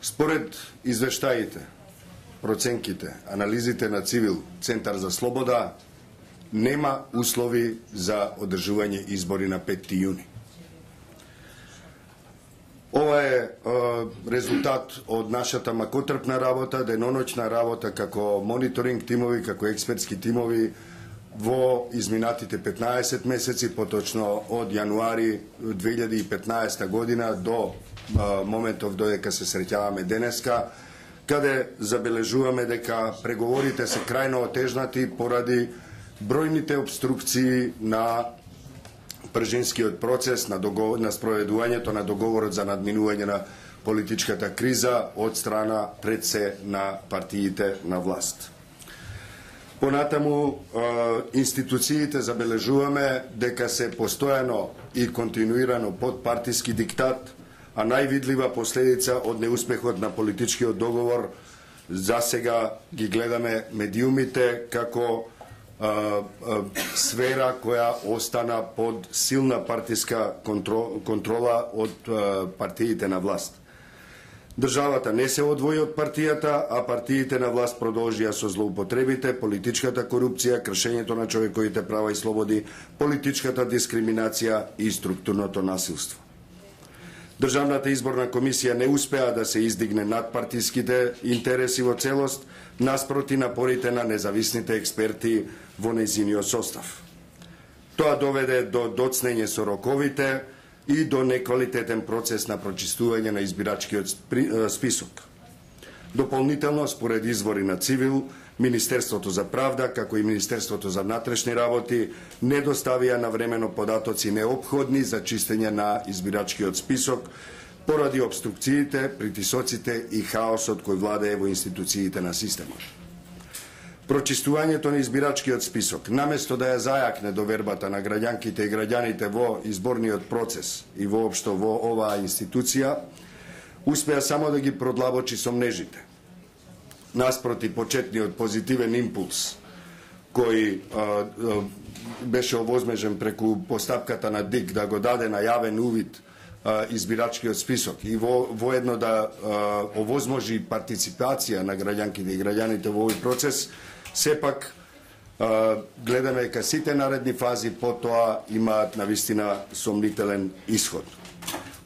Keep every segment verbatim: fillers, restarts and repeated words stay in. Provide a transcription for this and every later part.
Според извештаите, проценките, анализите на Цивил Центар за слобода, нема услови за одржување избори на петти јуни. Ова е, е резултат од нашата макотрпна работа, деноночна работа како мониторинг тимови, како експертски тимови во изминатите петнаесет месеци, поточно од јануари две илјади и петнаесета година до е, моментов додека се среќаваме денеска, каде забележуваме дека преговорите се крајно отежнати поради бројните обструкции на пржинскиот процес, на, договор, на спроведувањето на договорот за надминување на политичката криза од страна пред се на партиите на власт. Понатаму, институциите забележуваме дека се постојано и континуирано под партиски диктат, а највидлива последица од неуспехот на политичкиот договор засега ги гледаме медиумите како а, а, сфера која остана под силна партиска контрола од а, партиите на власт. Државата не се одвои од партијата, а партиите на власт продолжија со злоупотребите, политичката корупција, кршењето на човековите права и слободи, политичката дискриминација и структурното насилство. Државната изборна комисија не успеа да се издигне над партиските интереси во целост, наспроти напорите на независните експерти во нејзиниот состав. Тоа доведе до доцнење со роковите и до неквалитетен процес на прочистување на избирачкиот список. Дополнително, според извори на Цивил, Министерството за правда, како и Министерството за внатрешни работи, не доставија навремено податоци неопходни за чистење на избирачкиот список, поради обструкциите, притисоците и хаосот кој владее во институциите на системот. Прочистувањето на избирачкиот список, наместо да ја зајакне довербата на граѓанките и граѓаните во изборниот процес и воопшто во оваа институција, успеа само да ги продлабочи сомнежите. Наспроти почетниот позитивен импулс кој а, а, беше овозмежен преку постапката на ДИК да го даде на јавен увид а, избирачкиот список и во, воедно да а, овозможи партиципација на граѓанките и граѓаните во овој процес, сепак а, гледаме дека сите наредни фази по тоа имаат навистина сомнителен исход.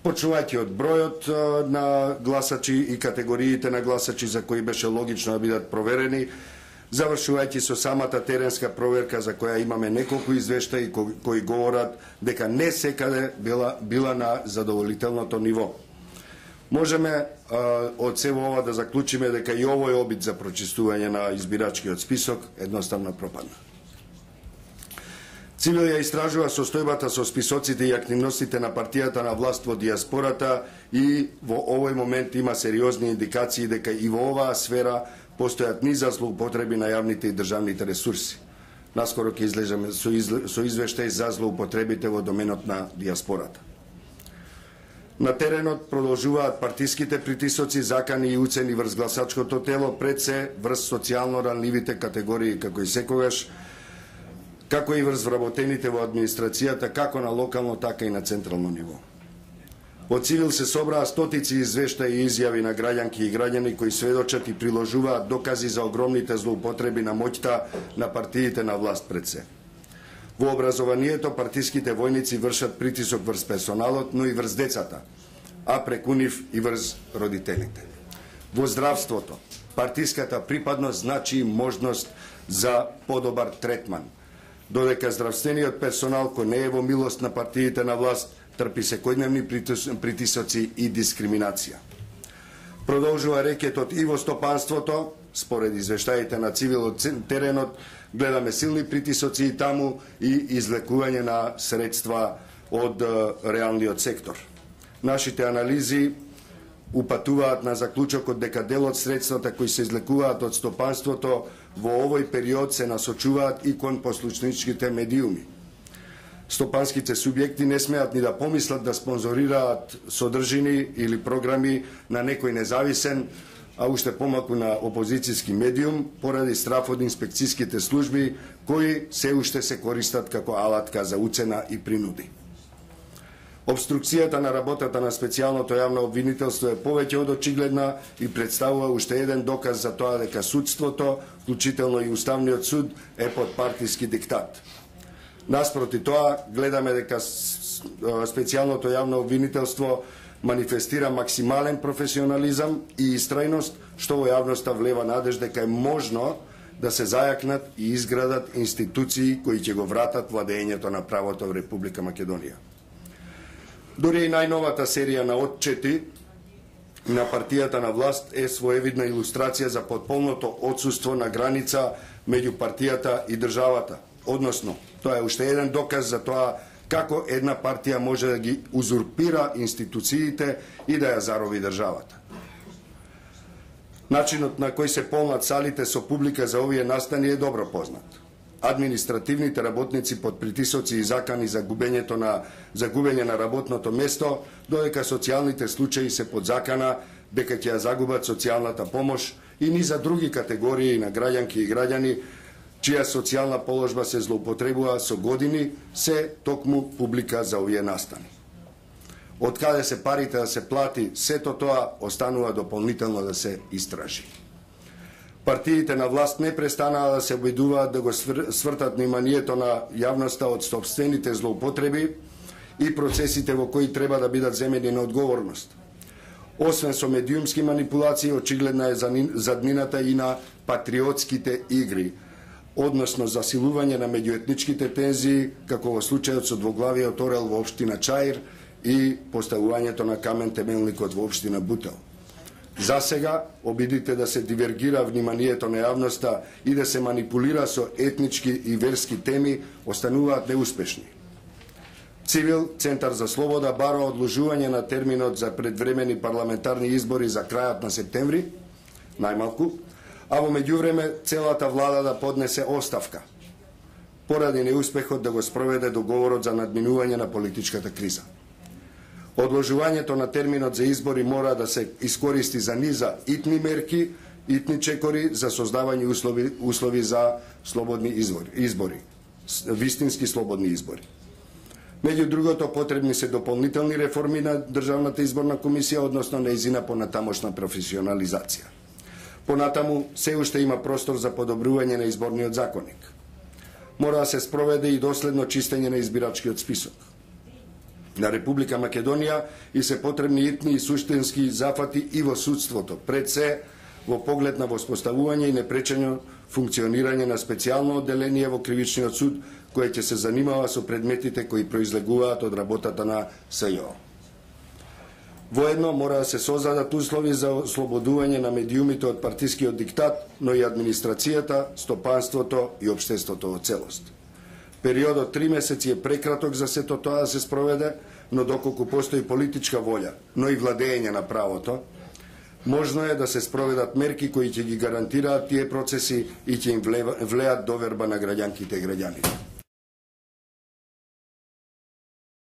Почнувајќи од бројот на гласачи и категориите на гласачи за кои беше логично да бидат проверени, завршувајќи со самата теренска проверка за која имаме неколку извештаи кои, кои говорат дека не секаде била, била на задоволителното ниво. Можеме а, од сево ова да заклучиме дека и овој обид за прочистување на избирачкиот список едноставно пропадна. Цивил ја истражува состојбата со списоците и активностите на партијата на власт во диаспората и во овој момент има сериозни индикации дека и во оваа сфера постојат низа злоупотреби на јавните и државните ресурси. Наскоро ќе излеземе со, изле, со извештај за злоупотребите во доменот на диаспората. На теренот продолжуваат партиските притисоци, закани и уцени врз гласачкото тело, пред се врз социјално ранливите категории како и секогаш, како и врз вработените во администрацијата, како на локално, така и на централно ниво. Во Цивил се собраа стотици извештаи и изјави на граѓанки и граѓани кои сведочат и приложуваат докази за огромните злоупотреби на моќта на партиите на власт пред се. Во образованието партиските војници вршат притисок врз персоналот, но и врз децата, а преку нив и врз родителите. Во здравството, партиската припадност значи можност за подобар третман, додека здравствениот персонал кој не е во милост на партиите на власт трпи секојдневни притисоци и дискриминација. Продолжува рекетот и во стопанството, според извештаите на Цивил од теренот, гледаме силни притисоци и таму и излекување на средства од реалниот сектор. Нашите анализи упатуваат на заклучокот дека дел од средствата кои се излекуваат од стопанството во овој период се насочуваат и кон послушничките медиуми. Стопанските субјекти не смеат ни да помислат да спонзорираат содржини или програми на некој независен, а уште помалку на опозицијски медиум, поради страф од инспекцијските служби, кои се уште се користат како алатка за уцена и принуди. Обструкцијата на работата на специјалното јавно обвинителство е повеќе од очигледна и представува уште еден доказ за тоа дека судството, вклучително и Уставниот суд, е под партиски диктат. Наспроти тоа, гледаме дека специјалното јавно обвинителство манифестира максимален професионализам и истрајност, што во јавноста влева надеж дека е можно да се зајакнат и изградат институции кои ќе го вратат владењето на правото во Република Македонија. Дори и најновата серија на отчети на партијата на власт е своевидна илустрација за потполното отсуство на граница меѓу партијата и државата. Односно, тоа е уште еден доказ за тоа како една партија може да ги узурпира институциите и да ја зарови државата. Начинот на кој се полнат салите со публика за овие настани е добро познат. Административните работници под притисоци и закани за губењето на за губење на работното место, додека социјалните случаи се под закана дека ќе ја загубат социјалната помош, и ни за други категории на граѓанки и граѓани чија социјална положба се злоупотребува со години, се токму публика за овие настани. Од каде се парите да се плати, сето тоа останува дополнително да се истражи. Партиите на власт не престанаа да се обидуваат да го свртат вниманието на јавноста од собствените злоупотреби и процесите во кои треба да бидат земени на одговорност. Освен со медиумски манипулации, очигледна е заднината и на патриотските игри, односно засилување на меѓуетничките тензии, како во случајот со двоглавиот орел во општина Чаир и поставувањето на камен темелникот во општина Бутел. За сега, обидите да се дивергира вниманието на јавноста и да се манипулира со етнички и верски теми, остануваат неуспешни. Цивил, Центар за слобода, бара одложување на терминот за предвремени парламентарни избори за крајот на септември, најмалку, а во меѓувреме целата влада да поднесе оставка, поради неуспехот да го спроведе договорот за надминување на политичката криза. Одложувањето на терминот за избори мора да се искористи за низа итни мерки, итни чекори за создавање услови, услови за слободни избори, избори, вистински слободни избори. Меѓу другото, потребни се дополнителни реформи на Државната изборна комисија, односно нејзина понатамошна професионализација. Понатаму, се уште има простор за подобрување на изборниот законник. Мора да се спроведе и доследно чистење на избирачкиот список на Република Македонија и се потребни итни и суштински зафати и во судството, пред се во поглед на воспоставување и непречено функционирање на специјално одделение во Кривичниот суд, кој ќе се занимава со предметите кои произлегуваат од работата на СЈО. Воедно мора да се создадат услови за ослободување на медиумите од партискиот диктат, но и администрацијата, стопанството и општеството во целост. Периодот три месеци е прекраток за сето тоа да се спроведе, но доколку постои политичка волја, но и владење на правото, можно е да се спроведат мерки кои ќе ги гарантираат тие процеси и ќе им влеат доверба на граѓанките и граѓаните.